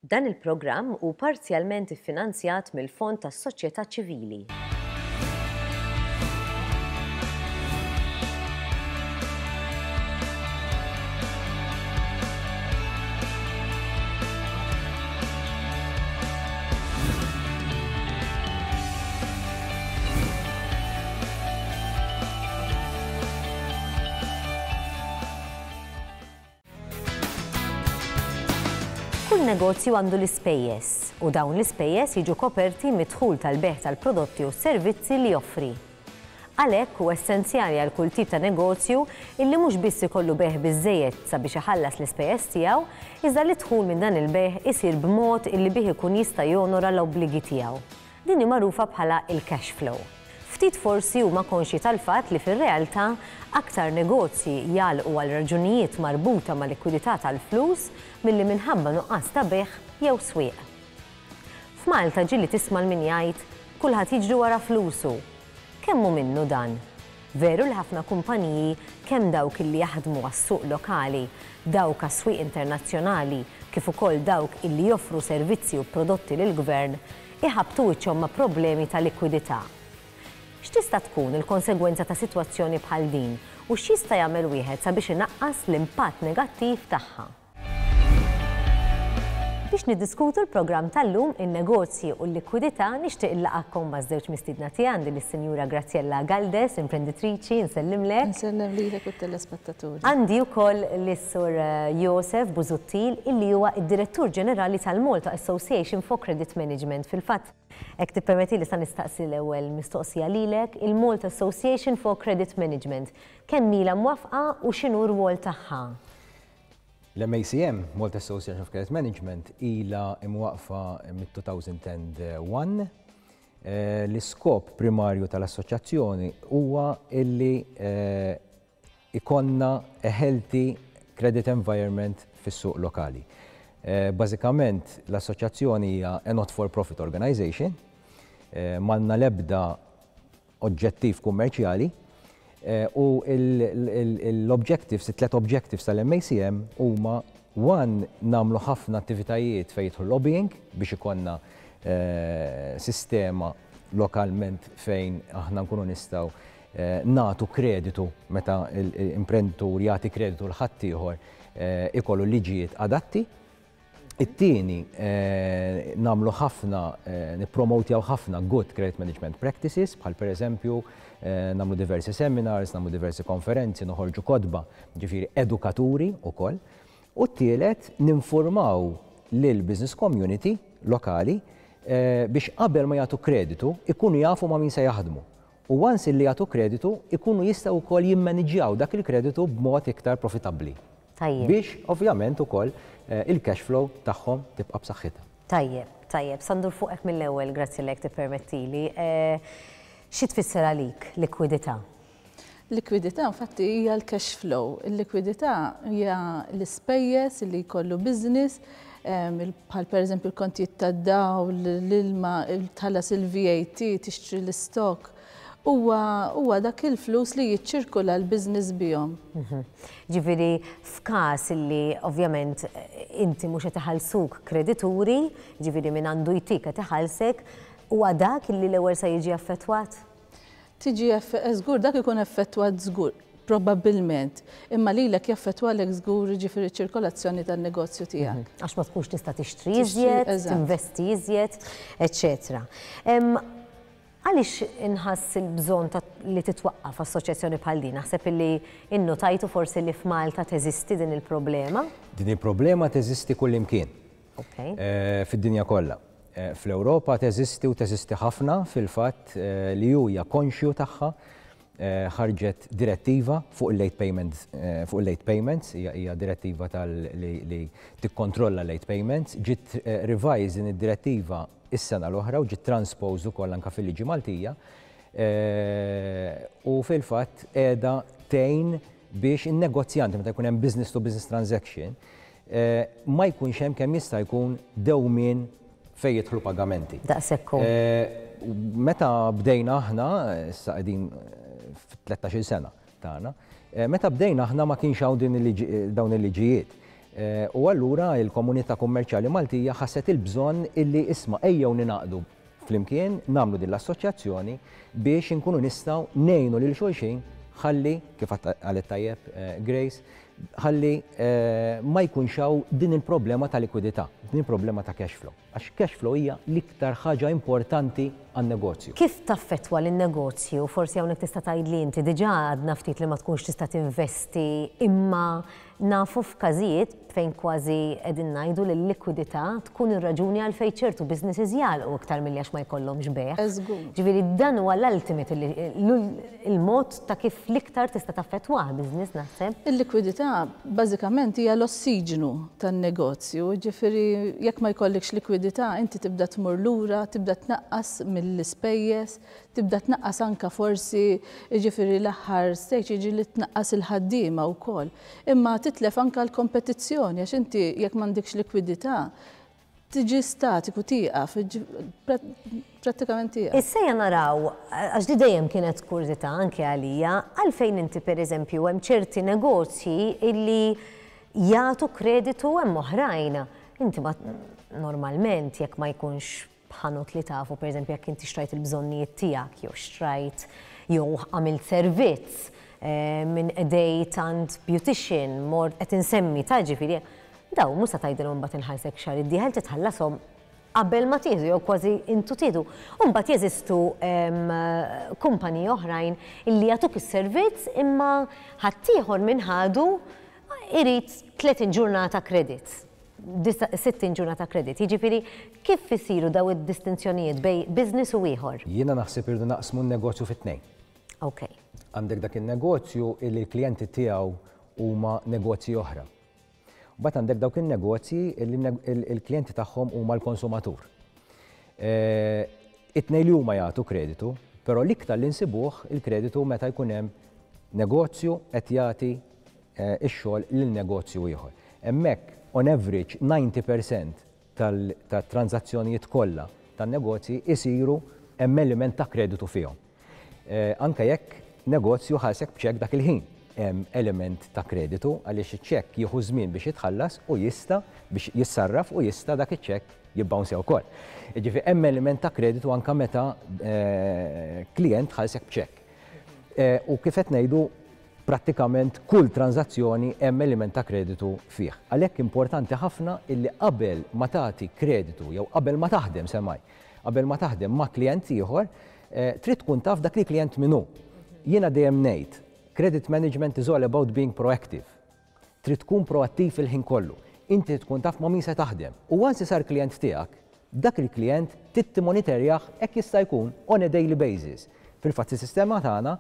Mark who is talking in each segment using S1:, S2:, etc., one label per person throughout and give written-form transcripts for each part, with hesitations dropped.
S1: Dan il-programm hu parzjalment iffinanzjat mill-Fond tas-Soċjetà Ċivili. Kull negozju għandu l-ispejjeż u dawn l-ispejjeż jiġu koperti mid-dħul tal-bejgħ tal-prodotti u s-servizzi li joffri. Għalhekk hu essenzjali għal kull tip ta' negozju illi mhux biss ikollu bejgħ biżżejjed sabiex iħallas l-ispejjeż tiegħu, iżda li d-dħul minn dan il-bejgħ isir b'mod illi bih ikun jista' jonora l-obbligi tiegħu. Din hi magħrufa bħala l-cash flow. Ftit forsi huma konxji tal-fatt li fir-realtà aktar negozji jagħlqu għal raġunijiet marbuta ma' likwidità tal-flus milli minħabba nuqqas ta' bejgħ jew swieq. F'Malta ġieli tisma' 'l min jgħid, kulħadd jiġri wara flusu. Kemm hu minnu dan? Veru li ħafna kumpaniji, kemm dawk illi jaħdmu għas-suq lokali, dawk għas-swieq internazzjonali, kif ukoll dawk illi joffru servizzi u prodotti lill-gvern, iħabbtu wiċċhom ma' problemi ta' likwidità. X'tista' tkun il-konsegwenza ta' sitwazzjoni bħal din u x'jista' jagħmel wieħed sabiex inaqqas l-impatt negattiv tagħha? Biex niddiskutu l-programm tal-lum, in-negozji u l-likwidità, nixtieq inlaqgħkom maż-żewġ mistiedna tiegħi, għandi lis-Sinjura Graziella Galdes, imprenditriċi, insellimlek.
S2: Insellem lilek u t-telespettaturi.
S1: Għandi wkoll lis-Sur Josef Busuttil illi huwa d-Direttur Ġenerali tal-Malta Association for Credit Management. Fil-fatt, hekk tippermettili sa nistaqsi l-ewwel mistoqsija lilek, il-Malta Association for Credit Management, kemm ilha mwaffqa u x'inhu r-rwol tagħha?
S3: L-MACM, Malta Association of Credit Management, ilha imwaqqfa mit-2001. L-iskop primarju tal-assoċjazzjoni huwa illi ikollna a healthy credit environment fis-suq lokali. Bażikament l-assoċjazzjoni hija a not-for-profit organization, m'għandna l-ebda oġġettiv kummerċjali u l-objectives, it-tlet objectives tal-MACM huma one nagħmlu ħafna attivitajiet fejn jidħol lobbying biex ikollna sistema lokalment fejn aħna nkunu nistgħu nagħtu kreditu meta l-imprenditur jagħti kreditu l ħaddieħor ikollu liġijiet adatti. It-tieni, nagħmlu ħafna, nippromotjaw ħafna good credit management practices, bħal pereżempju nagħmlu diversi seminars, nagħmlu diversi konferenzi, noħorġu kotba, ġifieri edukaturi wkoll. U t-tielet, ninfurmaw lill-business community lokali biex qabel ma jagħtu kreditu ikunu jafu ma' min se jaħdmu. U once illi jagħtu kreditu, ikunu jistgħu wkoll jimmaniġġjaw dak il-kreditu b'mod iktar profitabbli.
S1: Tajjeb.
S3: Biex ovvjament ukoll il-cash flow tagħhom tibqa' b'saħħitha.
S1: Tajjeb, tajjeb. Sa ndur fuqek mill-ewwel, Graziella, jekk tippermettili. Xi tfisser għalik likwidità?
S2: Likwidità infatti hija l-cash flow. Il-likwidità hija l-ispejjeż li jkollu business, bħal pereżempju l-kontijiet tad-dawl, l-ilma, tħallas il-VAT, tixtri l-istock. Huwa huwa dak il-flus li jiċċirkula l-business bihom.
S1: Ġifieri f'każ li ovvjament inti mhux qed iħallsuk kredituri, ġifieri min għandu jtik qed iħallsek, huwa dak li l-ewwel se jiġi affettwat?
S2: Tiġi żgur dak ikun effettwat żgur, probabbilment, imma lilek jaffettwalek żgur jiġifieri ċ-ċirkolazzjoni tan-negozju tiegħek.
S1: Għax ma tkunx tista' tixtri iżjed, tinvesti iżjed, eċċetera. Għaliex inħass il-bżonn ta' li titwaqqaf assoċjazzjoni bħal din? Naħseb illi innotajtu forsi li f'Malta teżisti din il-problema?
S3: Din il-problema teżisti kullimkien. Fid-dinja kollha. Fl-Ewropa teżisti u teżisti ħafna fil-fatt li hu hija konxju tagħha ħarġet direttiva fuq il-late payment fuq il-late payments, hija direttiva tal li tikkontrolla late payments, ġiet revised din id-direttiva is-sena l-oħra u ġiet transposed ukoll anke fil-liġi Maltija u fil-fatt qiegħda tgħin biex in-negozjanti meta jkun hemm business to business transaction ma jkunx hemm kemm jista' jkun dewmien fejn jidħlu pagamenti.
S1: Daqshekk hu.
S3: Meta bdejna aħna, issa qegħdin fit-13-il sena tagħna, meta bdejna aħna ma kienx hawn din il-liġi dawn il-liġijiet. U allura il-komunità kummerċjali Maltija ħasset il-bżonn illi isma' ejjew ningħaqdu flimkien nagħmlu din l-assoċjazzjoni biex inkunu nistgħu ngħinu lil xulxin ħalli, kif qalet tajjeb Grace, ħalli ma jkunx hawn din il-problema ta' likwidità, din il-problema ta' cash flow. Għax cash flow hija l-iktar ħaġa importanti għan-negozju.
S1: Kif taffettwa lin-negozju? Forsi hawnhekk tista' tgħidli inti, diġà għadna ftit li ma tkunx tista' tinvesti imma nafu f'każijiet fejn kważi qegħdin ngħidu li l-likwidità tkun ir-raġuni għalfejn ċertu businesses jagħlqu iktar milli għax ma jkollhomx bejgħ. Ġifieri dan huwa l-ultimate il-mod ta' kif l-iktar tista' taffettwah business naħseb.
S2: Il-likwidità bażikament hija l-ossiġnu tan-negozju, jiġifieri jekk ma jkollikx likwidità inti tibda tmur lura, tibda tnaqqas mill-ispejjeż, Tibda tnaqqas anke forsi, jiġifieri l-aħħar stage jiġi li tnaqqas il-ħaddiema wkoll. Imma titlef anke l-kompetizzjoni għax inti jekk m'għandikx likwidità tiġi statiku, tieqaf, prattikament tieqaf.
S1: Issa ejja naraw, għax di dejjem kienet kurżità anke għalija, għalfejn inti pereżempju hemm ċerti negozji illi jagħtu kreditu hemm oħrajn. Inti ma normalment jekk ma jkunx b'ħanut li tafu, pereżempju jekk inti xtrajt il-bżonnijiet tiegħek jew xtrajt jew għamilt servizz minn qdejt għand beautician, mort qed insemmi ta' ġifieri, dawn mhux se tgħidilhom imbagħad inħallsek xahar id-dieħel titħallashom qabel ma tieħdu jew kważi intu tieħdu. U mbagħad jeżistu kumpaniji oħrajn illi jagħtuk is-servizz imma ħaddieħor minn ħadu irid 30 ġurnata credit. 60 ġurnata credit. Jiġifieri kif isiru daw id-distinzjonijiet bejn business u ieħor?
S3: Jiena naħseb irridu naqsmu n-negozju fi tnejn.
S1: Ok.
S3: Għandek dak in-negozju illi l-klijenti tiegħu huma negozji oħra. Mbagħad għandek dawk in-negozji illi l-klijenti tagħhom huma l-konsumatur. It-tnejn li huma jagħtu kreditu, però l-iktar li nsibuh il-kreditu meta jkun hemm negozju qed jagħti ix-xogħol lil negozju ieħor. Hemmhekk, on average, 90% tat-tranżazzjonijiet kollha tan-negozji jsiru hemm element ta' kreditu fihom. Anke jekk negozju ħallsek b'ċekk dak il-ħin, hemm element ta' kreditu għaliex iċ-ċekk jieħu żmien biex jitħallas u jista' biex jissarraf u jista' dak iċ-ċekk jibbawnsja wkoll. Jiġifieri hemm element ta' kreditu anke meta klijent ħallsek b'ċekk. U kif qed ngħidu, prattikament kull tranżazzjoni hemm element ta' kreditu fih. Għalhekk importanti ħafna illi qabel ma tagħti kreditu jew qabel ma taħdem semmai, qabel ma taħdem ma' klijent ieħor, trid tkun taf dak il-klijent min hu. Jiena dejjem ngħid, credit management is all about being proactive. Trid tkun proattiv il-ħin kollu. Inti trid tkun taf ma' min se taħdem. U once sar klijent tiegħek, dak il-klijent trid timmoniterjah hekk jista' jkun on a daily basis. Fil-fatt is-sistema tagħna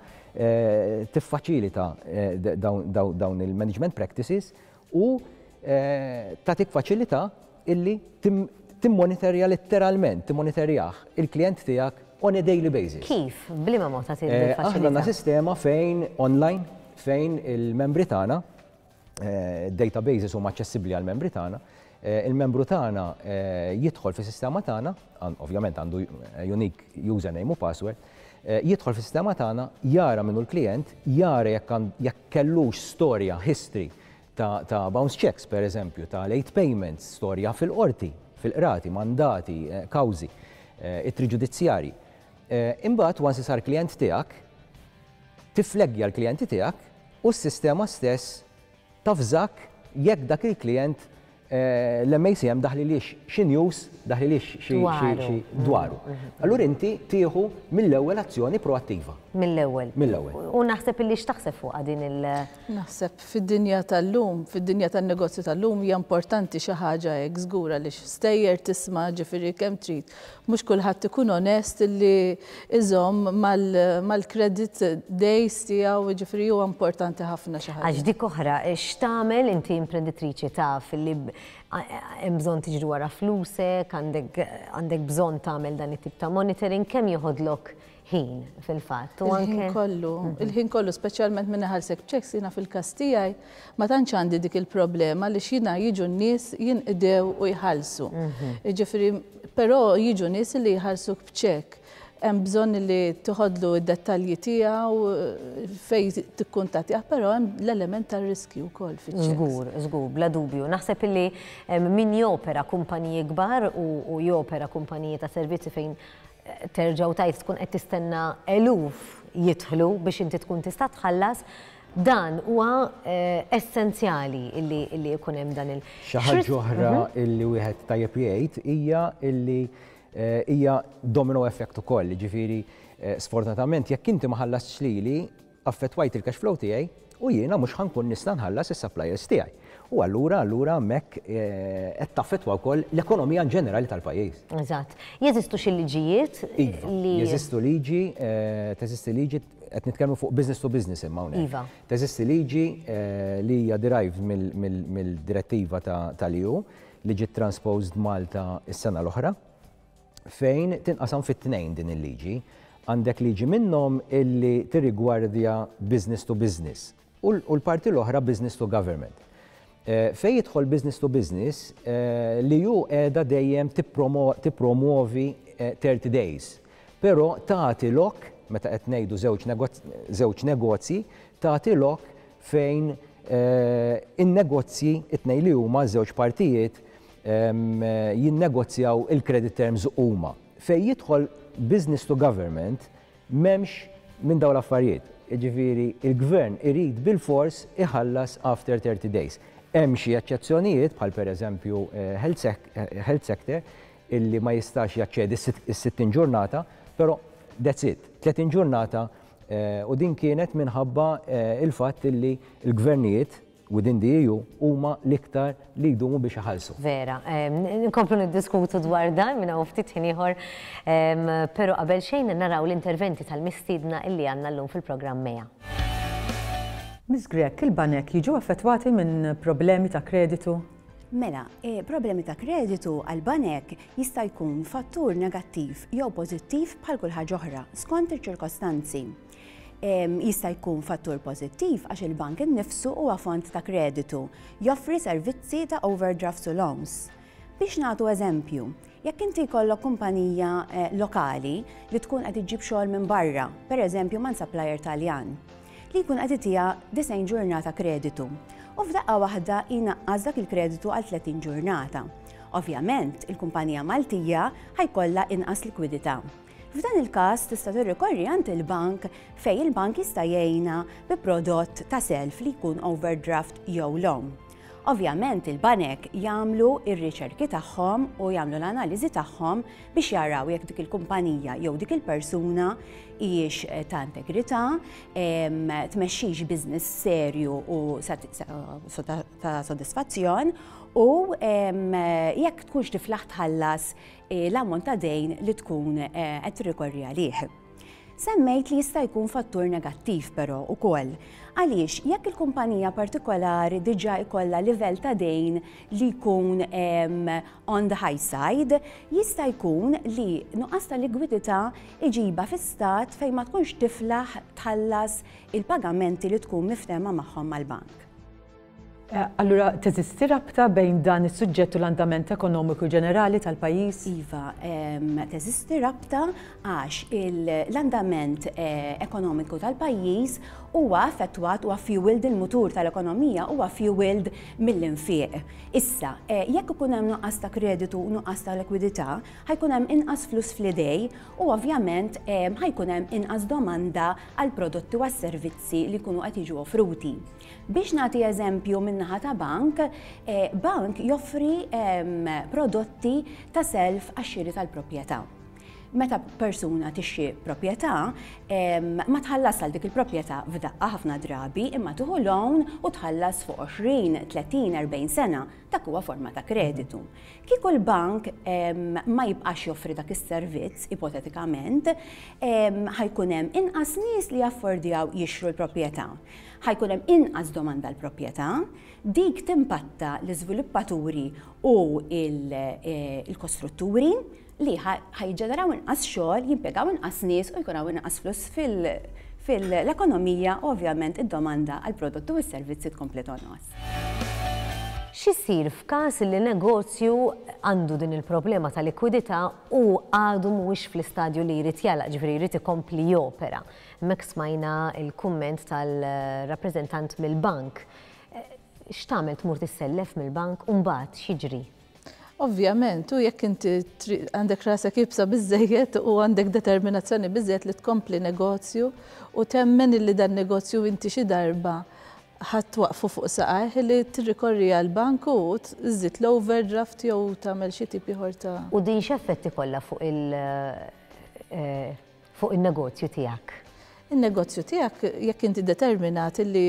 S3: tiffaċilita dawn il-management practices u tagħtik faċilità illi timmoniterja letteralment, timmoniterjah il-klijent tiegħek on a daily basis.
S1: Kif? B'liema mod tagħti din il-faċilità?
S3: Aħna għandna sistema fejn online fejn il-membri tagħna, databases huma aċċessibbli għall-membri tagħna, il-membru tagħna jidħol fis-sistema tagħna, ovvjament għandu unique username u password, jidħol fis-sistema tagħna, jara min hu l-klijent, jara jekk kellux storja, history ta' bounce checks per eżempju, ta' late payments, storja fil-qorti, fil-qrati, mandati, kawżi, ittri ġudizzjarji. Imbagħad once sar klijent tiegħek, tiffleggja l-klijenti tiegħek u s-sistema stess tavżak jekk dak il-klijent l-MACM daħlilix xi news, daħlilix xi dwaru. Allura inti tieħu mill-ewwel azzjoni proattiva.
S1: Mill-ewwel.
S3: Mill-ewwel.
S1: U naħseb illi x'taħseb fuqha din il-
S2: Naħseb fid-dinja tal-lum, fid-dinja tan-negozju tal-lum hija importanti xi ħaġa hekk żgur għaliex stejjer tisma' ġifieri kemm trid. Mhux kulħadd ikun onest li iżomm mal-credit days tiegħu, jiġifieri huwa importanti ħafna xi ħaġa.
S1: Għax dik oħra, x'tagħmel inti imprenditriċi taf li hemm bżonn tiġri wara flusek, għandek bżonn tagħmel dan it-tip ta' monitoring, kemm joħodlok ħin fil-fatt.
S2: Il-ħin kollu, il-ħin kollu, speċjalment minn iħallsek b'ċeks, jiena fil-każ tiegħi ma tantx għandi dik il-problema li x'jiena jiġu n-nies jinqdew u jħallsu. Jiġifieri, però jiġu nies li jħallsuk b'ċekk. Hemm bżonn li toħodlu d-dettalji tiegħu fejn tikkuntattjah, però hemm l-element tar-riskju wkoll fiċ-ċekks.
S1: Żgur, żgur, bla dubju. Naħseb illi min jopera kumpaniji kbar u jopera kumpaniji ta' servizzi fejn terġa' u tgħid tkun qed tistenna eluf jidħlu biex inti tkun tista' tħallas, dan huwa essenzjali illi jkun hemm dan il.
S3: Xi ħaġa oħra illi wieħed tajjeb jgħid hija illi hija domino effect ukoll, jiġifieri sfortunatament jekk inti ma ħallastx lili, affettwajt il-cash flow tiegħi u jiena mhux ħa nkun nista' nħallas is-suppliers tiegħi. U allura allura hemmhekk qed taffettwa wkoll l-ekonomija in ġenerali tal-pajjiż.
S1: Eżatt. Jeżistu xi liġijiet
S3: Iva,
S1: li.
S3: Jeżistu liġi, teżisti liġi, qed nitkellmu fuq business to business imma hawnhekk.
S1: Iva.
S3: Teżisti liġi li hija derived mill-direttiva tal-EU li ġiet transposed Malta s-sena l-oħra, fejn tinqasam fit-tnejn din il-liġi. Għandek liġi minnhom illi tirrigwardja business to business u l-parti l-oħra business to government. Fejn jidħol business to business, l-EU qiegħda dejjem tippromuovi 30 days, però tagħti lok, meta qed ngħidu żewġ negozji, tagħti lok fejn in-negozji it-tnejn li huma żewġ partijiet jinnegozjaw il-credit terms huma. Fejn jidħol business to government m'hemmx minn dawn l-affarijiet. Jiġifieri il-gvern irid bilfors iħallas after 30 days. Hemm xi eċċezzjonijiet bħal pereżempju health sector illi ma jistax jaċċedi s-60 ġurnata, però that's it, 30 ġurnata u din kienet minħabba il-fatt illi l-gvernijiet within the EU huma l-iktar li jdumu biex iħallsu.
S1: Vera, nkomplu niddiskutu dwar dan minn hawn ftit ħin ieħor, però qabel xejn naraw l-interventi tal-mistiedna illi għandna llum fil-programm MEA.
S4: Miss Grech, il-banek jiġu affettwati minn problemi ta' kreditu?
S5: Mela, problemi ta' kreditu għal-banek jista' jkun fattur negattiv jew pożittiv bħal kull ħaġa oħra, skont iċ-ċirkostanzi. Jista' jkun fattur pożittiv għax il-bank innifsu huwa font ta' kreditu, joffri servizzi ta' overdrafts u loans. Biex nagħtu eżempju, jekk inti jkollok kumpanija lokali li tkun qed iġġib xogħol minn barra, per eżempju man supplier Taljan, li jkun qed itiha 90 ġurnata kreditu u f'daqqa waħda jnaqqas dak il-kreditu għal 30 ġurnata. Ovvjament, il-kumpanija Maltija ħa jkollha inqas likwidità. F'dan il-każ tista' tirrikorri għand il-bank fejn il-bank jista' jgħinha bi prodott ta' self li jkun overdraft jew loan. Ovvjament il-banek jagħmlu ir-riċerki tagħhom u jagħmlu l-analiżi tagħhom biex jaraw jekk dik il-kumpanija jew dik il-persuna hijiex ta' integrità, tmexxix business serju u ta' sodisfazzjon u jekk tkunx tiflaħ tħallas l-ammont ta' dejn li tkun qed tirrikorri għalih. Semmejt li jista' jkun fattur negattiv però ukoll. Għaliex jekk il-kumpanija partikolari diġà jkollha livell ta' dejn li jkun on the high side, jista' jkun li nuqqas ta' likwidità iġibha fi stat fejn ma tkunx tiflaħ tħallas il-pagamenti li tkun miftehma magħhom mal-bank.
S4: Allura, teżisti rabta bejn dan is-suġġett u l-andament ekonomiku ġenerali tal-pajjiż?
S5: Iva, teżisti rabta għax l-andament ekonomiku tal-pajjiż huwa affettwat, huwa fueled, il-mutur tal-ekonomija huwa fueled mill-infiq. Issa, jekk ikun hemm nuqqas ta' kreditu u nuqqas ta' likwidità, ħa jkun hemm inqas flus fl-idej u ovvjament ħa jkun hemm inqas domanda għal prodotti u għas-servizzi li jkunu qed jiġu offruti. Biex nagħti eżempju min-naħa ta' bank, bank joffri prodotti ta' self għax-xiri tal-proprjetà. Meta persuna tixtri proprjetà, ma tħallas għal dik il-proprjetà f'daqqa ħafna drabi, imma tieħu loan u tħallas fuq 20, 30, 40 sena. Dak huwa forma ta' kreditu. Kieku l-bank ma jibqax joffri dak is-servizz, ipotetikament, ħa jkun hemm inqas nies li jaffordjaw jixtru l-proprjetà. Ħa jkun hemm inqas domanda l-proprjetà, dik timpatta l-iżviluppaturi u il-kostrutturi li ħa jiġġeneraw inqas xogħol, jimpjegaw inqas nies u jkun hawn inqas flus fil-ekonomija u ovvjament id-domanda għal prodotti u s-servizzi tkompli tonqos.
S1: X'isir f'każ li negozju għandu din il-problema ta' likwidità u għadu mhuwiex fl-istadju li jrid jagħlaq, ġifieri jrid ikompli jopera? Hemmhekk smajna l-kumment tal-rappreżentant mill-bank. X'tagħmel, tmur tissellef mill-bank u mbagħad x'jiġri?
S2: Ovvjament, u jekk inti għandek rasek iebsa biżżejjed u għandek determinazzjoni biżżejjed li tkompli negozju u temmen illi dan negozju inti xi darba ħa twaqqfu fuq saqajh, li tirrikorri għall-bank u żżid l-overdraft jew tagħmel xi tip ieħor ta'
S1: U din x'effett ikollha fuq il fuq in-negozju tiegħek?
S2: In-negozju tiegħek, jekk inti determinat li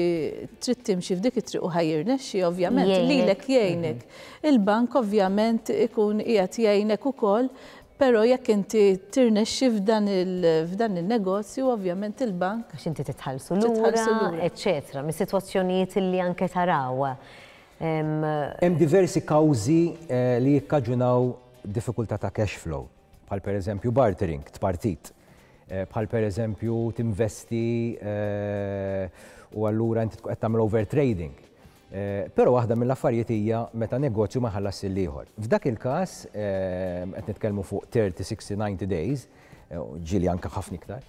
S2: trid timxi f'dik it-triq u ħa jirnexxi, ovvjament lilek jgħinek. Il-bank ovvjament ikun qiegħed jgħinek ukoll, però jekk inti tirnexxi f'dan il-negozju, ovvjament il-bank.
S1: Għax inti titħallsu lura, eċċetera, mis-sitwazzjonijiet li anke taraw.
S3: Hemm diversi kawżi li jikkaġunaw diffikultà ta' cash flow, bħal pereżempju bartering, tpartit, bħal pereżempju tinvesti u allura inti tkun qed tagħmel overtrading. Però waħda mill-affarijiet hija meta negozju ma jħallas lill-ieħor. F'dak il-każ qed nitkellmu fuq 30, 60, 90 days, ġieli anke ħafna iktar.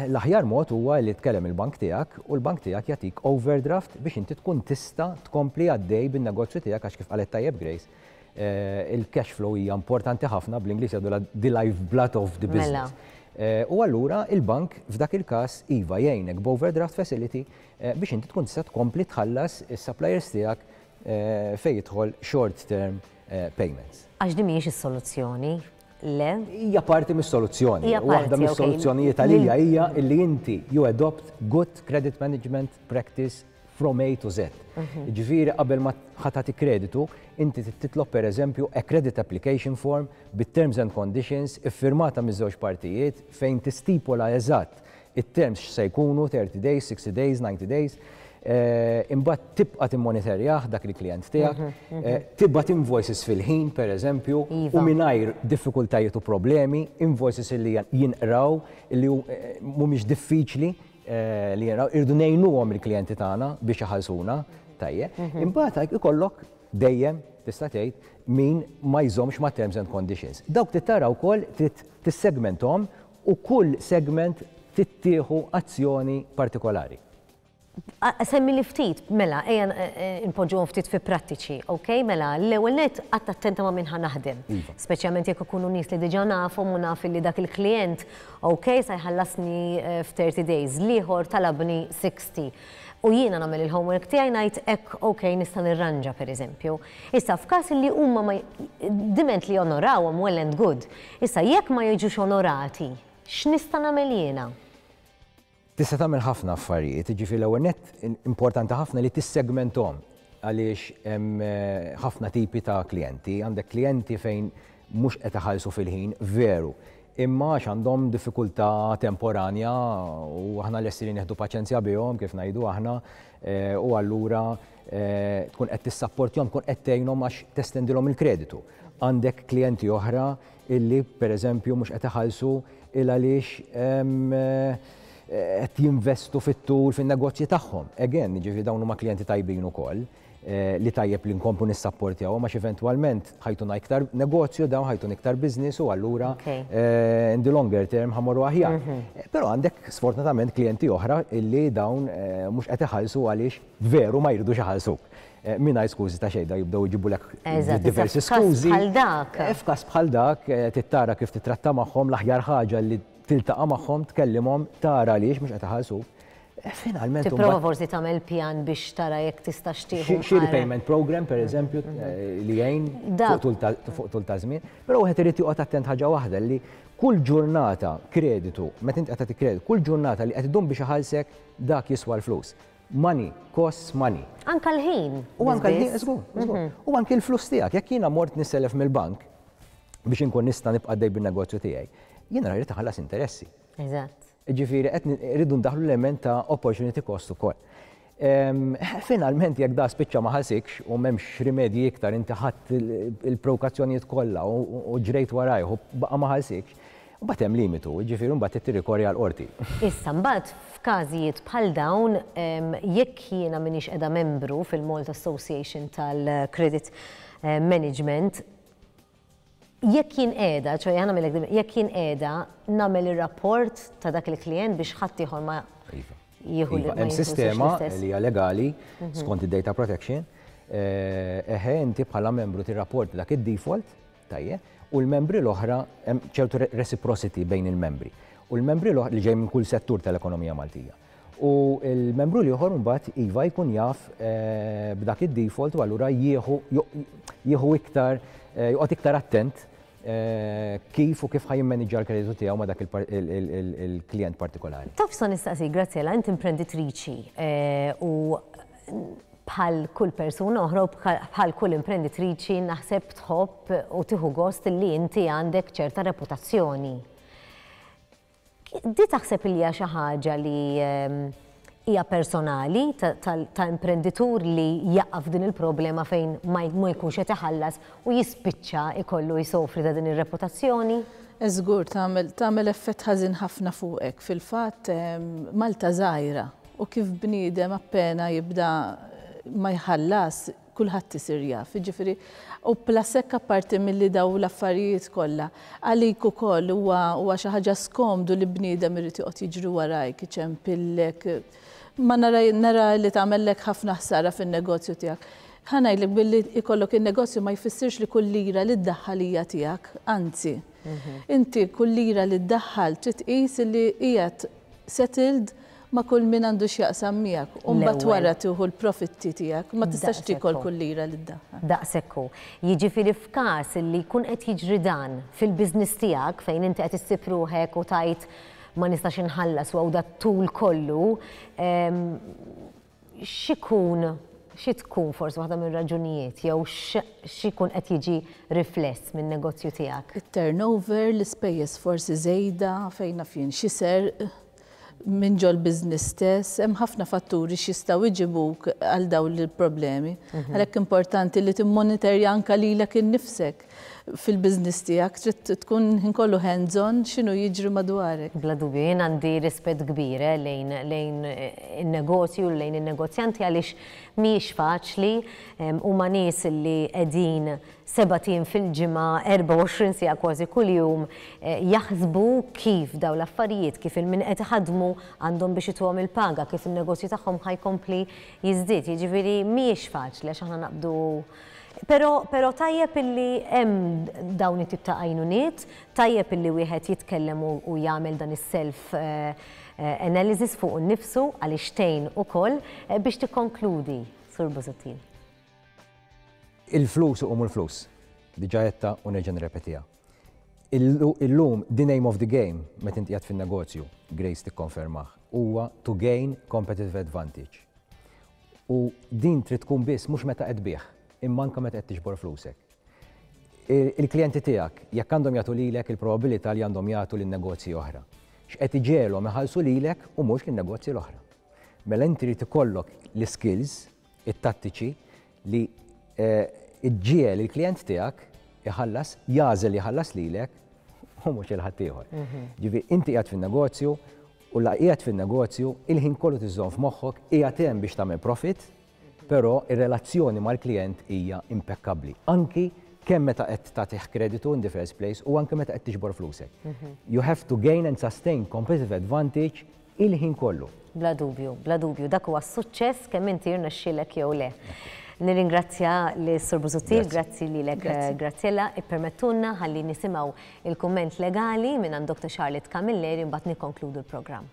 S3: L-aħjar mod huwa li tkellem il-bank tiegħek u l-bank tiegħek jagħtik overdraft biex inti tkun tista' tkompli għaddej bin-negozju tiegħek, għax kif qalet tajjeb Grace, il-cash flow hija importanti ħafna, bl-Ingliż jgħidu the lifeblood of the business. U allura il-bank f'dak il-każ iva jgħinek b'overdraft facility biex inti tkun tista' tkompli tħallas is-suppliers tiegħek fejn jidħol short term payments.
S1: Għax din mhijiex is-soluzzjoni, le?
S3: Hija parti mis-soluzzjoni. Waħda mis-soluzzjonijiet għalija hija illi inti you adopt good credit management practice from A to Z. Ġifieri qabel ma ħa tagħti kreditu, inti titlob per eżempju a credit application form bit-terms and conditions iffirmata miż-żewġ partijiet fejn tistipola eżatt it-terms x'se jkunu 30 days, 60 days, 90 days. Imbagħad tibqa' timmonitorjah dak il-klient tiegħek, tibgħat invoices fil-ħin pereżempju u mingħajr diffikultajiet u problemi, invoices li jinqraw li mhumiex diffiċli li jinqraw, irridu ngħinuhom il-klijenti tagħna biex iħallsuna, tajjeb. Imbagħad ikollok dejjem tista' tgħid min ma jżommx ma' terms and conditions. Dawk trid tara wkoll, trid tissegmenthom u kull segment tittieħu azzjoni partikolari.
S1: Semmi li ftit, mela, ejja npoġġuhom ftit fi prattiċi, ok? Mela, l-ewwel net qatt attenta ma' min ħa naħdem. Speċjalment jekk ikunu nies li diġà nafhom u naf li dak il-klient, ok, sa jħallasni f'30 days, l-ieħor talabni 60. U jiena nagħmel il-homework tiegħi, ngħid hekk, ok, nista' nirranġa pereżempju. Issa f'każ li huma ma diment li onorawhom, well and good. Issa jekk ma jiġux onorati, x'nista' nagħmel jiena?
S3: Tista' tagħmel ħafna affarijiet, jiġifieri l-ewwel nett importanti ħafna li tissegmenthom għaliex hemm ħafna tipi ta' klijenti. Għandek klijenti fejn mhux qed iħallsu fil-ħin, veru, imma għax għandhom diffikultà temporanja u aħna lesti li nieħdu paċenzja bihom, kif ngħidu aħna, u allura tkun qed tissapportjahom, tkun qed tgħinhom għax testendilhom il-kreditu. Għandek klijenti oħra illi pereżempju mhux qed iħallsu il għaliex qed jinvestu fit-tul fin-negozji tagħhom. Again, jiġifieri dawn huma klijenti tajbin ukoll li tajjeb li nkomplu nissapportjawhom għax eventwalment ħa jtuna iktar negozju dawn, ħa jtuna iktar business u allura in the longer term ħa mmorru aħjar. Però għandek sfortunatament klijenti oħra illi dawn mhux qed iħallsu għaliex veru ma jridux iħallsuk. Mingħajr skużi ta' xejn, jibdew jġibulek diversi skużi.
S1: Bħal dak.
S3: F'każ bħal dak, trid tara kif titratta magħhom. L-aħjar ħaġa li tiltaqa' magħhom, tkellimhom, tara għaliex mhux qed iħallsuk. Finalment.
S1: Tipprova forsi tagħmel pjan biex tara jekk tista' tieħu.
S3: Xi repayment program per eżempju li jgħin fuq tul ta' żmien. Però wieħed irid joqgħod attent ħaġa waħda, li kull ġurnata kreditu, meta inti qed tagħti kreditu, kull ġurnata li qed idum biex iħallsek, dak jiswa l-flus. Money costs money.
S1: Anka l-ħin.
S3: U anka l-ħin, żgur, żgur. U anke l-flus tiegħek, jekk jiena mort nisselef mill-bank biex inkun nista' nibqa' dej bin-negozju tiegħi, jiena rrid iħallas interessi. Ġifieri qed irridu ndaħlu l-element ta' opportunity cost ukoll. Finalment jekk da spiċċa ma ħallsikx u m'hemmx rimedji iktar, inti ħadd il-prokazzjonijiet kollha u ġrejt warajh u baqa' ma ħallsikx. Mbagħad hemm limitu, jiġifieri mbagħad trid tirrikorri għall-qorti.
S1: Issa mbagħad f'każijiet bħal dawn, jekk jiena m'iniex qiegħda membru fil-Malta Association tal-Credit Management, jekk jien qiegħda, ċoe ħa nagħmilek, jekk jien qiegħda nagħmel ir-rapport ta' dak il-klijent biex ħaddieħor ma jieħu
S3: Iva, hemm sistema li hija legali skont id-data protection. Eħe, inti bħala membru tirrapporti dak id-default, tajjeb, u l-membri l-oħra hemm ċertu reciprocity bejn il-membri. U l-membri l-oħra li ġej minn kull settur tal-ekonomija Maltija. U l-membru l-ieħor mbagħad iva jkun jaf b'dak id-default u allura jieħu jieħu iktar joqgħod iktar attent kif u kif ħa jimmaniġġja l-kreditu tiegħu ma' dak il-klijent partikolari.
S1: Taf x'sa nistaqsik, Graziella, inti imprenditriċi u bħal kull persuna oħra u bħal kull imprenditriċi naħseb tħobb u tieħu gost li inti għandek ċerta reputazzjoni. Di taħseb li hija xi ħaġa li hija personali ta' imprenditur li jaqa' f'din il-problema fejn ma jkunx qed iħallas u jispiċċa jkollu jsofri ta' din ir-reputazzjoni?
S2: Żgur tagħmel tagħmel effett ħażin ħafna fuqek. Fil-fatt Malta żgħira u kif bniedem appena jibda ma jħallas kulħadd isir jaf. Jiġifieri u plus hekk apparti milli daw l-affarijiet kollha, għalik ukoll huwa huwa xi ħaġa skomdu li bniedem irid joqgħod jiġri warajk, iċempillek. Ma nara nara li tagħmellek ħafna ħsara fin-negozju tiegħek. Ħa ngħidlek billi jkollok in-negozju ma jfissirx li kull lira li ddaħħal hija tiegħek, anzi. Inti kull lira li ddaħħal trid tqis li qiegħed settled ma' kull min għandu x'jaqsam miegħek u mbagħad wara tieħu l-profitti tiegħek. Ma tistax tiekol kull lira li ddaħħal.
S1: Daqshekk hu. Jiġifieri f'każ li jkun qed jiġri dan fil-business tiegħek fejn inti qed issib ruħek u tgħid ma nistax inħallas u hawn dat-tul kollu, x'ikun, xi tkun forsi waħda mir-raġunijiet jew x'ikun qed jiġi rifless min-negozju tiegħek?
S2: It-turnover, l-ispejjeż forsi żejda, fejn naf jien xi serq minn ġol-business stess, hemm ħafna fatturi x'jistgħu jġibuk għal dawn il-problemi. Għalhekk importanti li timmonitorja anke lilek innifsek fil-business tiegħek, trid tkun ħin kollu hands-on x'inhu jiġri madwarek.
S1: Bla dubju, jien għandi rispett kbir lejn lejn in-negozju u lejn in-negozjanti għaliex mhijiex faċli, huma nies li qegħdin sebat ijiem fil-ġimgħa, 24 siegħa kważi kuljum, jaħsbu kif dawn l-affarijiet, kif il-min qed iħaddmu għandhom biex ituhom il-paga, kif in-negozju tagħhom ħa jkompli jiżdied. Jiġifieri mhijiex faċli għax aħna naqbdu Però, però tajjeb illi hemm dawn it-tip ta' għajnuniet, tajjeb illi wieħed jitkellem u, u jagħmel dan is-self analysis fuqu nnifsu għaliex tgħin ukoll biex tikkonkludi, Sur Busuttil.
S3: Il-flus iqumu l-flus. Diġà għedtha u nerġa' nirrepetiha. Illum the name of the game meta inti qiegħed fin-negozju, Grace tikkonfermah, huwa to gain competitive advantage. U din trid tkun biss mhux meta qed tbigħ, imma anke meta qed tiġbor flusek. Il-klijenti tiegħek jekk għandhom jagħtu lilek il-probabilità li għandhom jagħtu lil negozji oħra. X'qed iġegħelhom iħallsu lilek u mhux lin-negozji l-oħra. Mela inti trid ikollok l-iskills, it-tattiċi li ġġiegħel il-klijent tiegħek iħallas, jagħżel jħallas lilek u mhux lil ħaddieħor. Ġifieri inti qiegħed fin-negozju u la qiegħed fin-negozju il-ħin kollu tiżżomm f'moħħok qiegħed hemm biex tagħmel profit, però ir-relazzjoni mal-klijent hija impekkabbli. Anki kemm meta qed tagħtih kreditu in the first place u anke meta qed tiġbor flusek. You have to gain and sustain competitive advantage il-ħin kollu.
S1: Bla dubju, bla dubju, dak huwa s-suċċess kemm inti jirnexxielek jew le. Nirringrazzja lis Sur Busuttil, grazzi lilek Graziella, ippermettulna ħalli nisimgħu il-kumment legali mingħand Dr. Charlotte Camilleri mbagħad nikkonkludu l-programm.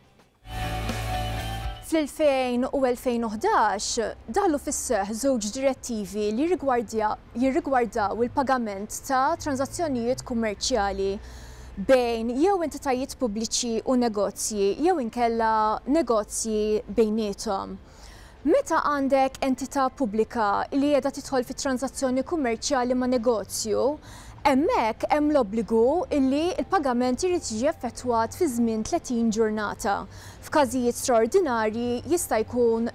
S6: Fl-2000 u 2011 daħlu fis-seħħ żewġ direttivi li jirrigwardaw il-pagament ta' tranżazzjonijiet kummerċjali bejn jew entitajiet pubbliċi u negozji jew inkella negozji bejniethom. Meta għandek entità pubblika li qiegħda tidħol fi tranżazzjoni kummerċjali ma' negozju, hemmhekk hemm l-obbligu li l-pagament irid jiġi effettwat fi żmien 30 ġurnata. F'każijiet straordinarji jista' jkun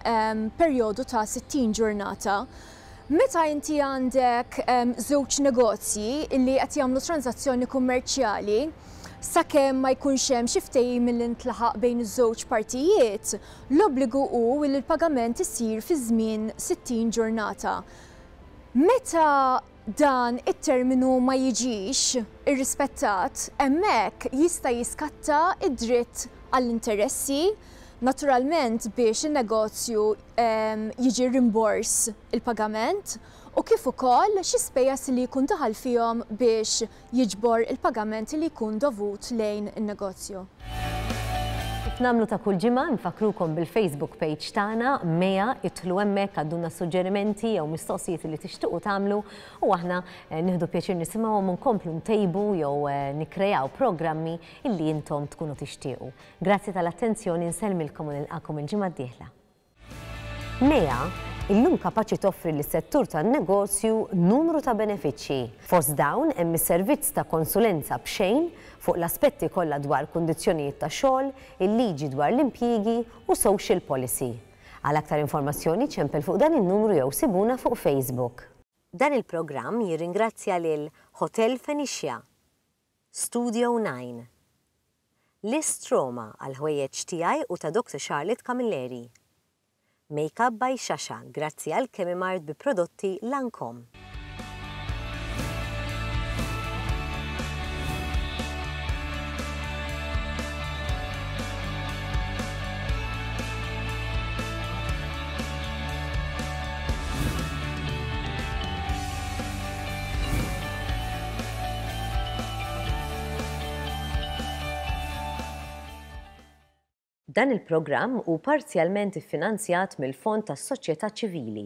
S6: perjodu ta' 60 ġurnata. Meta inti għandek żewġ negozji li qed jagħmlu tranżazzjoni kummerċjali, Sakemm ma jkunx hemm xi ftehim li ntlaħaq bejn iż-żewġ partijiet, l-obbligu hu li l-pagament isir fi żmien 60 ġurnata. Meta dan it-terminu ma jiġix irrispettat, hemmhekk jista' jiskatta d-dritt għall-interessi, naturalment biex in-negozju jiġi rimbors il-pagament, u kif ukoll xi spejjeż li jkun daħal fihom biex jiġbor il-pagament li jkun dovut lejn in-negozju.
S1: Kif nagħmlu ta' kull ġimgħa, nfakkrukom bil-Facebook page tagħna, Mea, idħlu hemmhekk għaddulna suġġerimenti jew mistoqsijiet li tixtiequ tagħmlu u aħna nieħdu pjaċir nisimgħuhom u nkomplu ntejbu jew nikkreaw programmi illi intom tkunu tixtiequ. Grazzi tal-attenzjoni, nsellmilkom u nilqakom il-ġimgħa d-dieħla. Mea illum kapaċi toffri lis-settur tan-negozju numru ta' benefiċċji. Fost dawn hemm is-servizz ta' konsulenza b'xejn fuq l-aspetti kollha dwar kundizzjonijiet ta' xogħol, il-liġi dwar l-impjiegi u social policy. Għal aktar informazzjoni ċempel fuq dan in-numru jew sibuna fuq Facebook. Dan il-programm jirringrazzja lil Hotel Phoenicia, Studio 9, List Roma għall-ħwejjeġ tiegħi u ta' Doctor Charlotte Camilleri. Makeup by Shasha grazzi għal Chemimart bi prodotti Lancome. Dan il-programm hu parzjalment iffinanzjat mill-Fond tas-Soċjetà Ċivili.